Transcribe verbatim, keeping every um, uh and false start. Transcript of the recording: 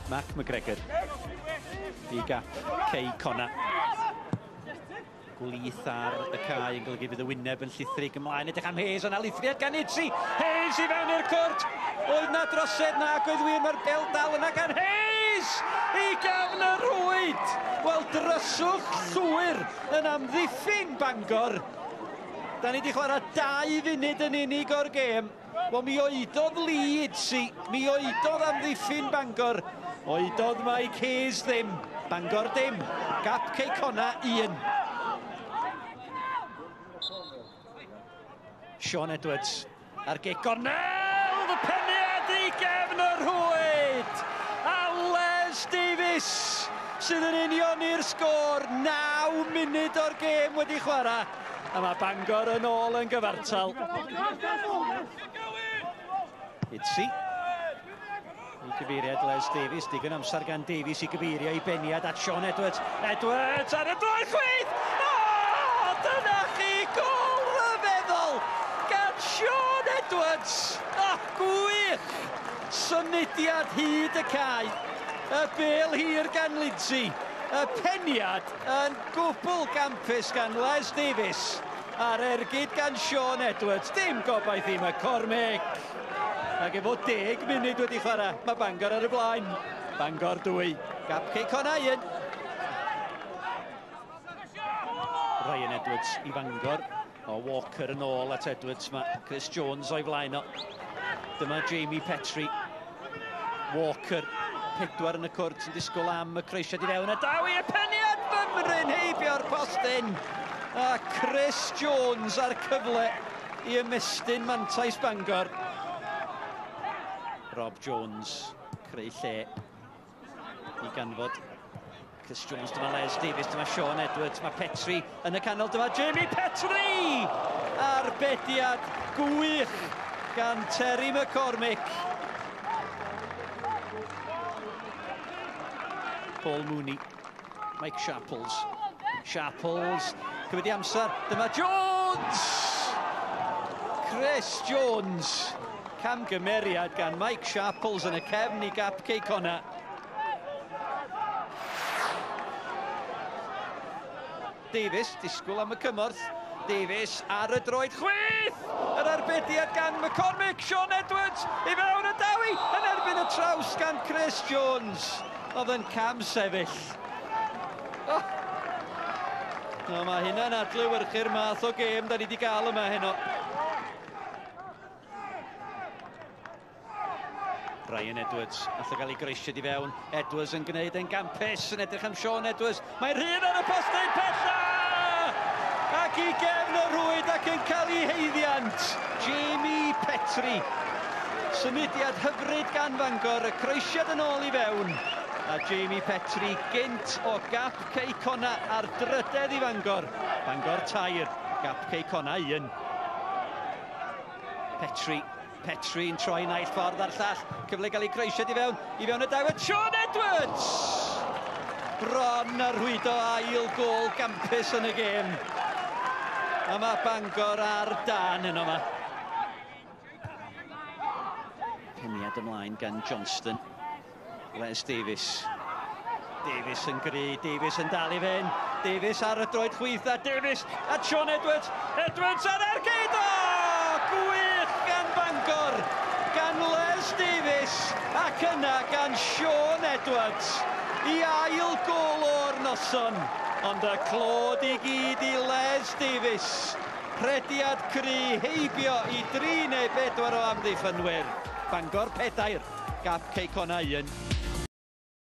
Mark McGregor i gap Cei Connah. Gwlith ar y cae yn golygu fydd y wyneb yn llithrig ymlaen. Edrych am Hayes, yna lithriad gan Idzi. Hayes i fewn i'r cwrt. Oedd na drosedd na, ac oedd wir, mae'r bel dal yna gan Hayes! I gefn y rhwyd! Wel, dryswch llwyr yn amddiffyn Bangor. Da ni wedi chwarae dau funud yn unig o'r gêm. Wel, mi oedodd Lee Idzi, mi oedodd amddiffyn Bangor. Oedodd Mike Hayes ddim. Bangor dim. Gap Cei Connah un. Sean Edwards ar gic gornel, y peniad i gefn y rhwyd! A Les Davies sydd yn unioni'r sgôr, naw munud o'r gêm wedi chwarae. A mae Bangor yn ôl yn gyfartal. Idzi. I gyfeiriad Les Davies, digon amser gan Davies i gyfeirio i beniad at Sean Edwards. Edwards ar y droed chwith! O, dyna chi gôl rhyfeddol gan Sean Edwards! O, gwych! Symudiad hyd y cae. Y bêl hir gan Lindsay. Y peniad yn gwbl gampus gan Les Davies. A'r ergyd gan Sean Edwards. Dim gobaith i McCormick. Ac efo deg munud wedi chwarae, mae Bangor ar y blaen. Bangor dwy, gap Cei Connah un. Ryan Edwards i Bangor. O, Walker yn ôl at Edwards. Mae Chris Jones o'i flaen o. Dyma Jamie Petrie. Walker, pedwar yn y cwrt yn disgwyl am y croesiad i fewn. A daw i y peniad fymryn heibio'r postyn. A Chris Jones ar cyfle i ymestyn mantais Bangor. Rob Jones creu lle i ganfod Chris Jones. Dyma Les Davies, dyma Sean Edwards, mae Petrie yn y canol, dyma Jamie Petrie! Arbediad gwych gan Terry McCormick. Paul Mooney, Mike Sharples. Sharples, cymryd i amser, dyma Jones! Chris Jones. Camgymeriad gan Mike Sharples yn y cefn i gap Cei Connah. Davies, disgwyl am y cymorth. Davies ar y droed chwith! Yr arbediad gan McCormick, Sean Edwards i fewn y dawi yn erbyn y traws gan Chris Jones. Oedd yn cam sefyll. Oh. No, mae hynna'n adlewyrchu'r math o gêm da ni wedi gael yma heno. Ryan Edwards, allai gael ei groesiad i fewn. Edwards yn gwneud yn gampus, yn edrych am Sean Edwards. Mae'n rhydd ar y postyn pella! Ac i gefn y rhwyd ac yn cael ei heiddiant. Jamie Petrie. Symudiad hyfryd gan Fangor, y croesiad yn ôl i fewn. A Jamie Petrie gynt o gap Cei Connah ar drydedd i Fangor. Bangor tair, gap Cei Connah un. Petrie. Petrie yn troi naill ffordd a'r llall. Cyfle gael ei croesiad i fewn. I fewn y dawed Sean Edwards! Bron ar rhwydo ail gôl gampus yn y gêm. A mae Bangor ar dan yno yma. Peniad ymlaen gan Johnston. Les Davies. Davies yn gry, Davies yn dal i fynd. Davies ar y droed chwith a Davies at Sean Edwards. Edwards ar ergyd! O! Gwych gan Bangor, gan Les Davies ac yna gan Sean Edwards i ail gôl o'r noson. Ond y clod i gyd i Les Davies. Rhediad cry heibio i dri neu bedwar o amddiffynwyr. Bangor pedair, gap Cei Connah un.